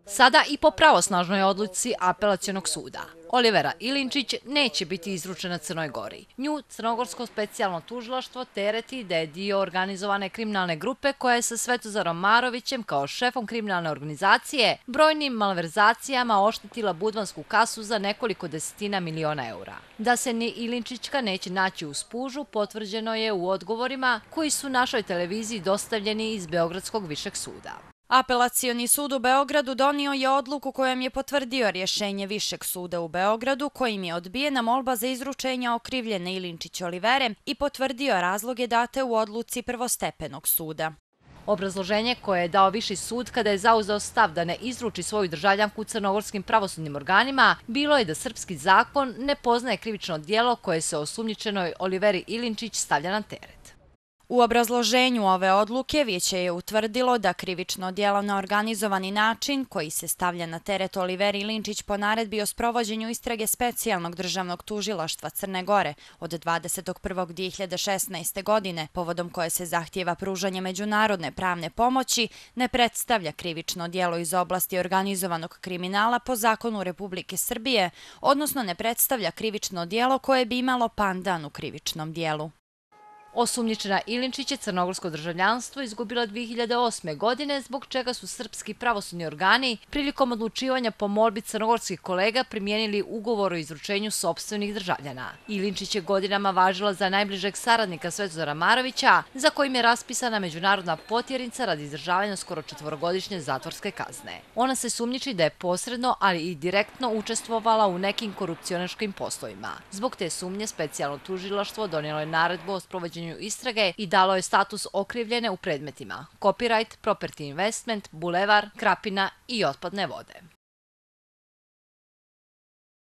Sada i po pravosnažnoj odluci Apelacionog suda, Olivera Ilinčić neće biti izručena Crnoj Gori. Nju Crnogorsko specijalno tužilaštvo tereti da je dio organizovane kriminalne grupe koja je sa Svetozarom Marovićem kao šefom kriminalne organizacije brojnim malverzacijama oštetila budvansku kasu za nekoliko desetina miliona eura. Da se ni Ilinčićka neće naći u spužu potvrđeno je u odgovorima koji su našoj televiziji dostavljeni iz Beogradskog višeg suda. Apelacioni sud u Beogradu donio je odluku kojom je potvrdio rješenje Višeg suda u Beogradu kojim je odbijena molba za izručenje okrivljene Ilinčić Olivere i potvrdio razloge date u odluci prvostepenog suda. Obrazloženje koje je dao Viši sud kada je zauzeo stav da ne izruči svoju državljanku crnogorskim pravosudnim organima bilo je da srpski zakon ne poznaje krivično djelo koje se osumnjičenoj Oliveri Ilinčić stavlja na teret. U obrazloženju ove odluke vijeće je utvrdilo da krivično djelo na organizovani način koji se stavlja na teret Oliveri Ilinčić po naredbi o sprovođenju istrage specijalnog državnog tužilaštva Crne Gore od 21.2016. godine, povodom koje se zahtijeva pružanje međunarodne pravne pomoći, ne predstavlja krivično djelo iz oblasti organizovanog kriminala po zakonu Republike Srbije, odnosno ne predstavlja krivično djelo koje bi imalo pandan u krivičnom djelu. Osumnjičena Ilinčić je crnogorsko državljanstvo izgubila 2008. godine, zbog čega su srpski pravosudni organi prilikom odlučivanja po molbi crnogorskih kolega primijenili ugovor o izručenju sopstvenih državljana. Ilinčić je godinama važila za najbližeg saradnika Svetozara Marovića, za kojim je raspisana međunarodna potjernica radi izdržavanja skoro 4-godišnje zatvorske kazne. Ona se sumnjiči da je posredno, ali i direktno učestvovala u nekim korupcionaškim poslovima. Zbog te sumnje specijalno tužilaštvo donijelo je naredbu o sprovođenju istrage i dalo je status okrivljene u predmetima copyright, property investment, bulevar, Krapina i otpadne vode.